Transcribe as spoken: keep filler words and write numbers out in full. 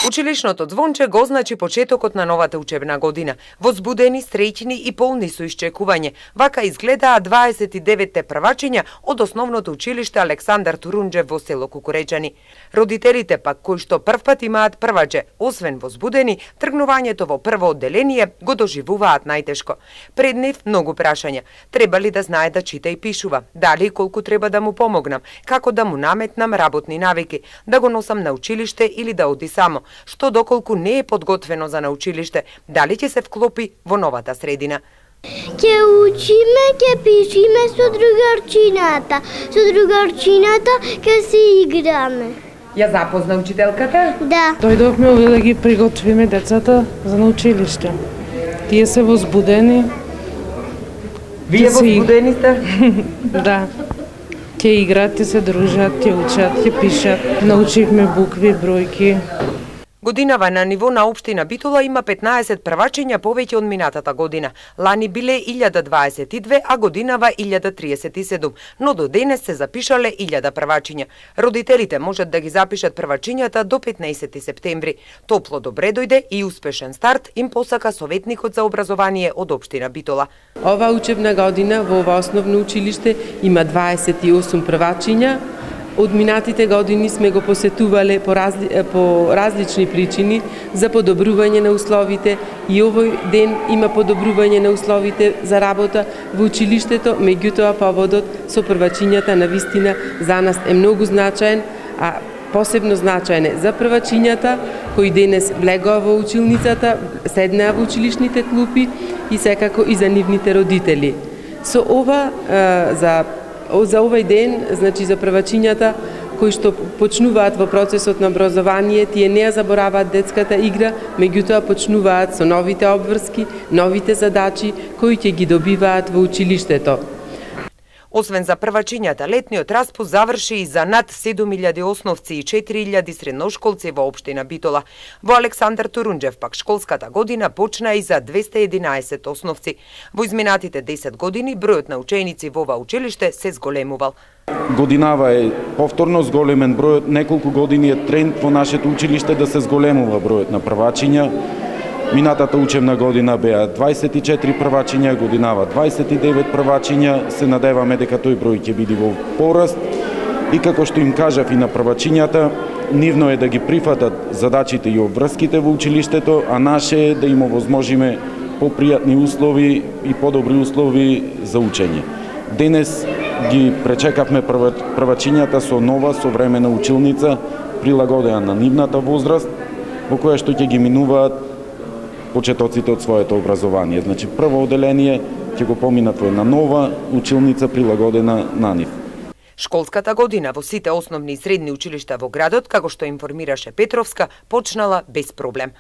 Училишното звонче го означи почетокот на новата учебна година. Возбудени, среќни и полни со исчекување. Вака изгледаа дваесет и деветте првачиња од основното училиште Александар Турунџев во село Кукуреџани. Родителите пак кои што првпат имаат прваче, освен возбудени, тргнувањето во прво одделение го доживуваат најтешко. Пред нив многу прашања. Треба ли да знае да чита и пишува? Дали и колку треба да му помогнам? Како да му наметнам работни навики? Да го носам на училиште или да оди само? Што доколку не е подготвено за на училиште, дали ќе се вклопи во новата средина? Ќе учиме, ќе пишиме со другарчината. Со другарчината ќе се играме. Ја запозна учителката? Да. Дојдовме овде да ги приготвиме децата за на училиште. Тие се возбудени. Вие возбудени сте? Да. Ќе играат, ќе се дружат, ќе учат, ќе пишат. Научивме букви, бројки. Годинава на ниво на општина Битола има петнаесет првачиња повеќе од минатата година. Лани биле илјада дваесет и две, а годинава илјада триесет и седум, но до денес се запишале илјада првачиња. Родителите можат да ги запишат првачињата до петнаесети септември. Топло добре дојде и успешен старт им посака советникот за образование од општина Битола. Ова учебна година во ова основно училиште има дваесет и осум првачиња. Од минатите години сме го посетувале по, разли, по различни причини за подобрување на условите и овој ден има подобрување на условите за работа во училиштето, меѓутоа поводот со првачињата на вистина за нас е многу значаен, а посебно значаен е за првачињата кои денес влегоа во училницата, седнаа во училишните клупи и секако и за нивните родители. Со ова за За овој ден, значи за првачињата кои што почнуваат во процесот на образование, тие не ја забораваат детската игра, меѓутоа почнуваат со новите обврски, новите задачи кои ќе ги добиваат во училиштето. Освен за првачињата, летниот распуст заврши и за над седум илјади основци и четири илјади средношколци во општина Битола. Во Александар Турунџев пак школската година почна и за двесте и единаесет основци. Во изминатите десет години бројот на ученици во ова училиште се зголемувал. Годинава е повторно зголемен бројот, неколку години е тренд во нашето училиште да се зголемува бројот на првачиња. Минатата учебна година беа дваесет и четири првачиња, годинава дваесет и девет првачиња. Се надеваме дека тој број ќе биде во пораст. И како што им кажав и на првачињата, нивно е да ги прифатат задачите и обврските во училиштето, а наше е да им овозможиме попријатни услови и подобри услови за учење. Денес ги пречекавме првачињата со нова современа училница, прилагодена на нивната возраст, во која што ќе ги минуваат почетоците од своето образование. Значи, прво одделение ќе го поминат во една нова училница прилагодена на нив. Школската година во сите основни и средни училишта во градот, како што информираше Петровска, почнала без проблем.